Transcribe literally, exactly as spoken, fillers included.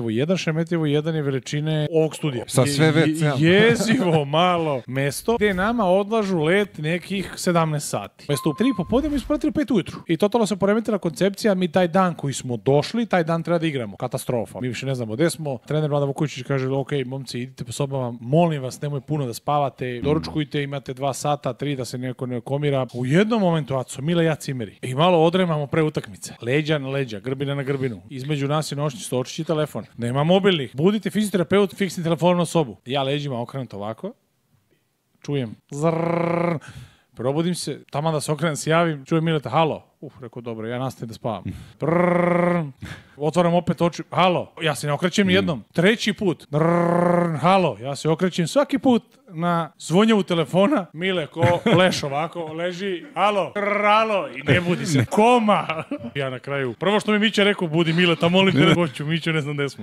jedan, Šemetljevo jedan je veličine ovog studija. Sa sve ve ce. Jezivo malo mesto gde nama odlažu let nekih sedamnaest sati. Mesto u tri popodne mi smo pratili pet ujutru. I totalno se poremetila koncepcija, mi taj dan koji smo došli, taj dan treba da igramo. Katastrofa. Mi više ne znamo gde smo. Trener Vlada Vuković kaže, ok, momci, idite po sobama, molim vas, nemoj puno da spavate, doručkujte, imate dva sata, tri da se neko ne komira. U jednom momentu, Aco, Mila i ja cimeri. I malo odremamo pre utakmice. Leđa na leđa, grbina na grbinu. Između nas je noćni stočić i telefon. Nema mobilnih. Budite fizioterapeut, fiksni telefon na sobu. Ja leđima okrenut ovako. Čujem. Zrrrr. Probudim se, tamo da se okrenem, se javim, čujem Mileta, halo. Uf, rekao, dobro, ja nastavim da spavam. Brrrr. Otvaram opet oči, halo. Ja se ne okrećem ni jednom. Treći put. Brrrr. Halo. Ja se okrećem svaki put na zvonjavu telefona. Mile ko leš ovako, leži, halo, brrrr, halo. I ne budi se. Koma. Ja na kraju. Prvo što mi Mića rekao, budi Mileta, molim te, hoću, Mića, ne znam gde smo.